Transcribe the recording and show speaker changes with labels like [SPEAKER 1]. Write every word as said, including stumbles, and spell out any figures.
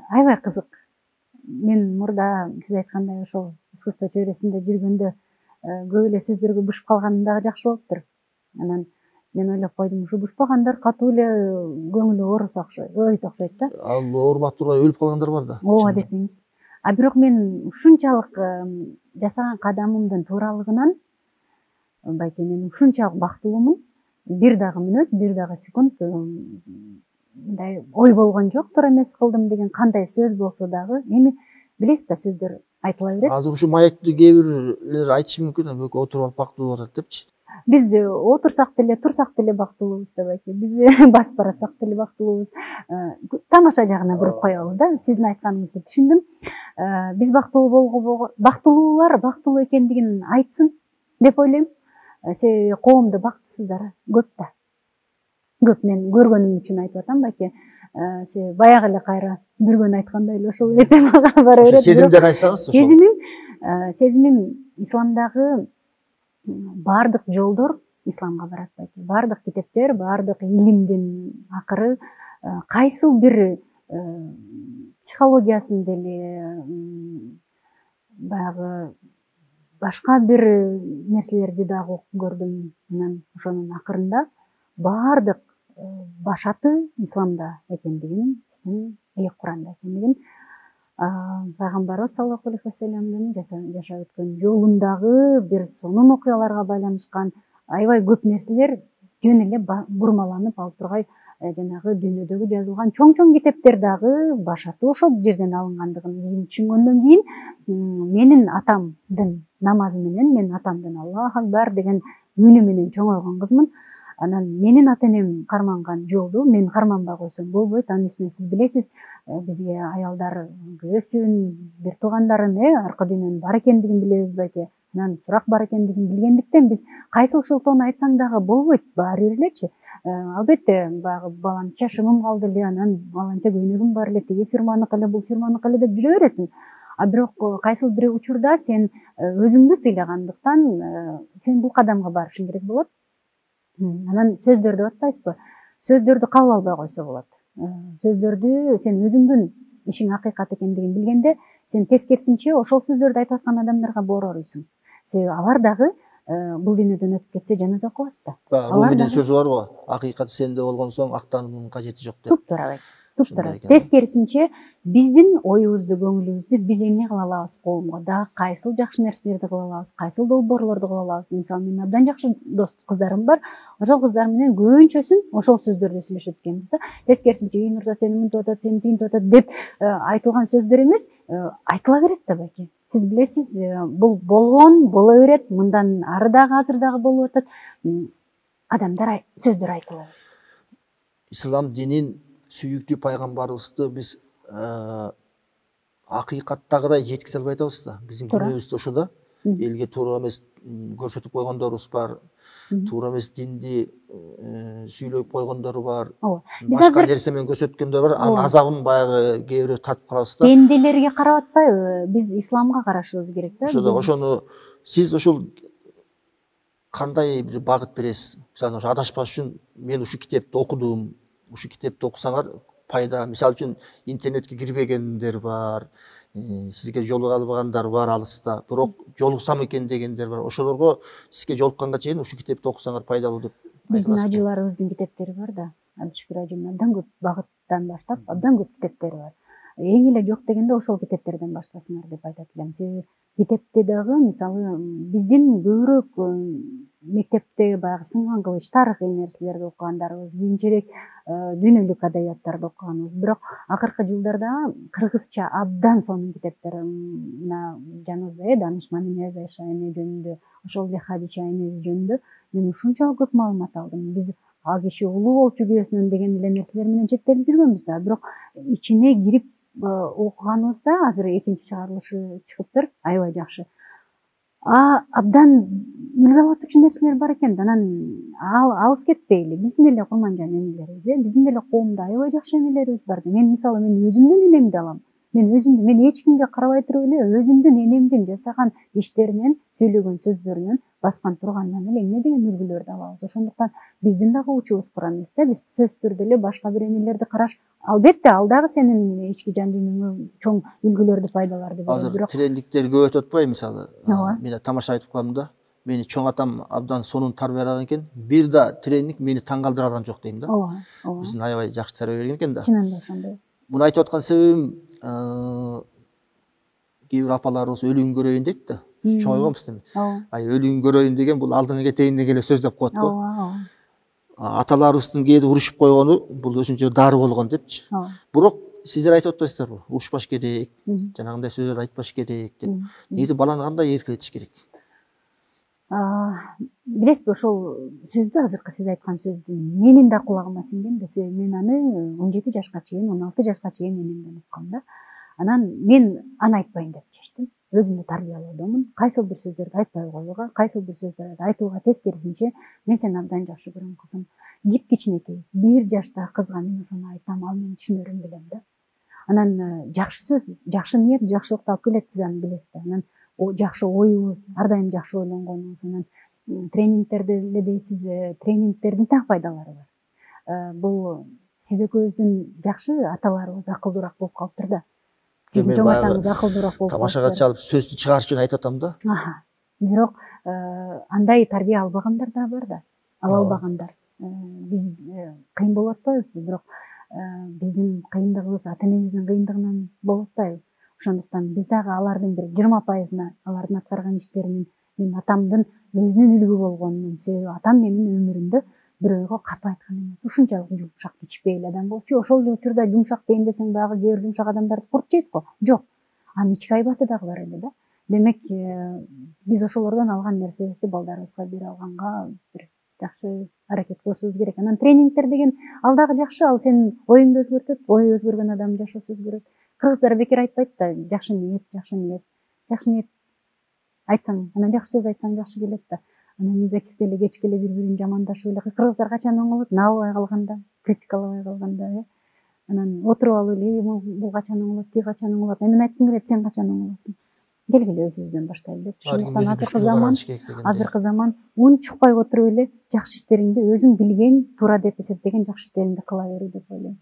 [SPEAKER 1] аябай кызык. Мен мурда сиз айткандай ошол искусство чөйрөсүндө жүргөндө көп эле сөздөргө бушуп калганым дагы жакшы болуптур. Анан мен ойлоп койдум, ушу бушпагандар катуу эле көңүлү ооруса окшойт, ойт окшойт да.
[SPEAKER 2] Ал оорубай турбай өлүп калгандар бар да.
[SPEAKER 1] Ооба десеңиз. А бирок мен ушунчалык жасаган кадамымдын тууралыгынан балки мен ушунчалык бактылуумун. Бир дагы мүнөт, бир дагы секунд мындай ой болгон жок, туура эмес кылдым деген кандай сөз болсо дагы, эми билесиз да, сөздөр айтыла берет.
[SPEAKER 2] Азыр ушу маекти кээ бирлер айтышы мүмкүн, бөкө отуруп алып бактылуу болуп атат депчи.
[SPEAKER 1] Биз отурсак деле, турсак деле бактылуубуз да балки. Биз басып баратсак деле бактылуубуз. Тамаша жагына буруп коелу да. Сиздин айтканыңызды түшүндүм. Биз бактылуу болгон, бактылуулар бактылуу экендигин айтсын деп ойлойм. Себеби коомдо бактысыздар көп да. Көп, мен көргөнүм үчүн айтып атам балки. Себеби баягы эле кайра бүргөн айткандай эле ошол эте мага бара берет.
[SPEAKER 2] Сезимдер айтсаңыз ошол.
[SPEAKER 1] Сезимим, сезимим исламдагы бардык жолдор исламга барат балки. Бардык китептер, бардык илимдин акыры кайсыл бир психологиясын деле, баягы башка бир нерселерди дагы окуп көрдүм. Анан ошонун акырында бардык башаты исламда экендигин, биздин ыйык Куранда экендигин, пайгамбарыбыз саллаллаху алейхи вассаламдын жашап өткөн жолундагы бир сонун окуяларга байланышкан аябай көп нерселер жөн эле бурмаланып алып тургай жанагы дүйнөдөгү жазылган чоң-чоң китептер дагы башаты ошол жерден алынгандыгын түшүнгөндөн кийин, менин атамдын намазы менен, менин атамдын Аллаху акбар деген үнү менен чоңойгон кызмын. Анан менин ата энем карманган жолду мен карманбай койсом болбойт. Анын үстүнө сиз билесиз, бизге аялдар күйөөсүн, бир туугандарын, аркы дүйнөнүн бар экендигин билебиз балки. Анан сурак бар экендигин билгендиктен биз кайсыл шылтоону айтсаң дагы болбойт, баары бир элечи. Албетте, баягы баланча шымым калды эле, анан баланча көйнөгүм бар эле, тиги фирманыкы эле, бул фирманыкы эле деп жүрө бересиң. А бирок кайсыл бир учурда сен өзүңдү сыйлагандыктан сен бул кадамга барышың керек болот. Анан сөздөр деп атпайсызбы? Сөздөрдү кабыл албай койсо болот. Сөздөрдү сен өзүңдүн ишиң акыйкат экендигин билгенде, сен тескерисинче ошол сөздөрдү айтып аткан адамдарга боор уруйсуң. Себеби алар дагы бул дүйнөдөн өтүп кетсе жаназа окулат да.
[SPEAKER 2] Руминдин сөзү бар го, акыйкат сенде болгонсоң актануунун кажети жок деп.
[SPEAKER 1] Туп-туура. Туп-туура. Тескерисинче биздин оюбузду, көңүлүбүздү биз эмне кыла алабыз коомго, дагы кайсыл жакшы нерселерди кыла алабыз, кайсыл долбоорлорду кыла алабыз. Мисалы, менин абдан жакшы дос кыздарым бар. Ошол кыздар менен көбүнчөсүн ошол сөздөрдү сүйлөшөт экенбиз да. Тескерисинче, "Үй Нурзат сени мынтип атат, сени тигинтип атат" деп айтылган сөздөр эмес, айтыла берет да балки. Сиз билесиз, бул болгон, боло берет, мындан ары дагы азыр дагы болуп атат. Адамдар сөздөр айтылат.
[SPEAKER 2] Ислам динин сүйүктүү пайгамбарыбызды биз акыйкаттагыдай жеткизе албай атабыз да. Биздин күнөөбүз да ошо да. Элге туура эмес көрсөтүп койгондорубуз бар. Туура эмес динди сүйлөп койгондору бар. Башка нерсе менен көрсөткөндөр бар. Анын азабын баягы кээ бирөө татып калабыз да.
[SPEAKER 1] Пенделерге карап атпайбы? Биз исламга карашыбыз керек да.
[SPEAKER 2] Ошо ошону сиз ошол кандай бир багыт бересиз? Мисалы, ошо адашпаш үчүн мен ушу китепти окудум. Ушу китепти окусаңар пайда. Мисалы үчүн интернетке кирбегендер бар, сизге жолуга албагандар бар алыста. Бирок жолуксам экен дегендер бар. Ошолорго сизге жолукканга чейин ушу китепти окусаңар пайдалуу деп.
[SPEAKER 1] Биздин ажыларыбыздын китептери бар да. Абдышкүр ажынын абдан көп багыттан баштап, абдан көп китептери бар. Эң эле жок дегенде ошол китептерден баштасыңар деп айтат элем. Себеби китепте дагы, мисалы, биздин көбүрөөк мектепте баягы сынган кылыч, тарыхый нерселерди окугандарыбыз, кийинчерээк дүйнөлүк адабияттарды окуганыбыз. Бирок акыркы жылдарда кыргызча абдан сонун китептер, мына жаныбызда Данышман Нияз Айша эне жөнүндө, ошол эле Хадича энебиз жөнүндө мен ушунчалык көп маалымат алдым. Биз ал киши улуу болчу күйөөсүнөн деген эле нерселер менен чектелип жүргөнбүз да. Бирок ичине кирип окуганыбызда азыр экинчи чыгарылышы чыгыптыр, аябай жакшы. А абдан үлгү алып атуучу нерселер бар экен. Анан алыс кетпейли. Биздин эле курманжан энелерибиз, биздин эле коомдо аябай жакшы энелерибиз бар. Мен мисалы мен өзүмдүн энемди алам. мен өзүмдү мен эч кимге карабай туруп эле өзүмдүн энемдин жасаган иштеринен сүйлөгөн сөздөрүнөн баскан турганынан эле эмне деген үлгүлөрдү алабыз. Ошондуктан биздин дагы учубуз кура эмес да. Биз сөзсүз түрдө эле башка бир энелерди караш, албетте ал дагы сенин ички жан дүйнөңө чоң үлгүлөрдү, пайдаларды берет.
[SPEAKER 2] Азыр тренингдер көп өтүп атпайбы мисалы?
[SPEAKER 1] Ооба.
[SPEAKER 2] Мен тамаша айтып калам да. Мени чоң атам абдан сонун тарбиялаган экен. Бир да тренинг мени таң калтырган жок дейм да.
[SPEAKER 1] Ооба, ооба.
[SPEAKER 2] Биздин аябай жакшы тарбия берген экен да.
[SPEAKER 1] Чынында ошондой.
[SPEAKER 2] Муну айтып аткан себебим, кээ бир апаларыбыз өлүгүн көрөйүн дейт да. Чоңойгонбуз дейм. Ай өлүгүн көрөйүн деген бул алдыңа кетейин деген эле сөз деп коет го.
[SPEAKER 1] Ооба, ооба.
[SPEAKER 2] Аталарыбыздын кээде урушуп койгону бул өзүнчө дары болгон депчи. Бирок сиздер айтып атпайсыздарбы? Урушпаш керек, жанагындай сөздөрдү айтпаш керек деп. Негизи баланы кандай эркелетиш керек?
[SPEAKER 1] Билесизби, ошол сөздү, азыркы сиз айткан сөздү менин да кулагыма сиңген да, себеби мен аны он жети жашка чейин, он алты жашка чейин энемден уккам да. Анан мен аны айтпайын деп чечтим. Өзүмдү тарбиялоодомун. Кайсыл бир сөздөрдү айтпай коюуга, кайсыл бир сөздөрдү айтууга тескерисинче, мен сени абдан жакшы көрөм кызым. Кип кичинекей бир жаштагы кызга мен ошону айтам, ал менин түшүнөрүн билем да. Анан жакшы сөз, жакшы ниет жакшылыкты алып келет, сиз аны билесиз да. Анан жакшы оюбуз, ар дайым жакшы ойлонгонубуз, анан тренингтерде эле дейсиз, тренингтердин так пайдалары бар. Бул сиз экөөбүздүн жакшы аталарыбыз акылдуураак болуп калыптыр да. Сиздин чоң атаңыз акылдуураак болуп калыптыр.
[SPEAKER 2] Тамашага чалып сөздү чыгарыш үчүн айтып атам да.
[SPEAKER 1] Бирок андай тарбия албагандар да бар да. Ала албагандар. Биз кыйын болуп атпайбызбы? Бирок биздин кыйындыгыбыз ата энебиздин кыйындыгынан болуп атпайбы? Ошондуктан биз дагы алардын бир жыйырма пайызына алардын аткарган иштеринин мен атамдын өзүнүн үлгү болгонунун себеби атам менин өмүрүмдө бирөөгө катуу айткан эмес. Ушунчалык жумшак кичпейли адам болчу. Ошол учурда жумшак дейм десең багы кээ бир жумшак адамдарды курт жейт го. Жок. Анын ички айбаты дагы бар эле да. Демек, биз ошолордон алган нерсебизди балдарыбызга бере алганга бир жакшы аракет кылышыбыз керек. Анан тренингтер деген ал дагы жакшы, ал сенин оюңду өзгөртөт, ою өзгөргөн адамдын жашоосу өзгөрөт. Кыргыздар бекер айтпайт да, жакшы ниет, жакшы ниет. Жакшы ниет айтсаң, анан жакшы сөз айтсаң жакшы келет да. Анан негативде эле кечке эле бири-бирин жамандашып эле кыргыздар качан оңолот? Набабай калганда, критикалабай калганда, э. Анан отуруп алып эле бул качан оңолот, тиги качан оңолот? Мен айткым келет, сен качан оңолосуң? Келгиле өзүбүздөн баштайлы деп. Ошондуктан азыркы заман, азыркы заман унчукпай отуруп эле жакшы иштериңди өзүң билген, туура деп эсептеген жакшы иштериңди кыла бер деп ойлойм.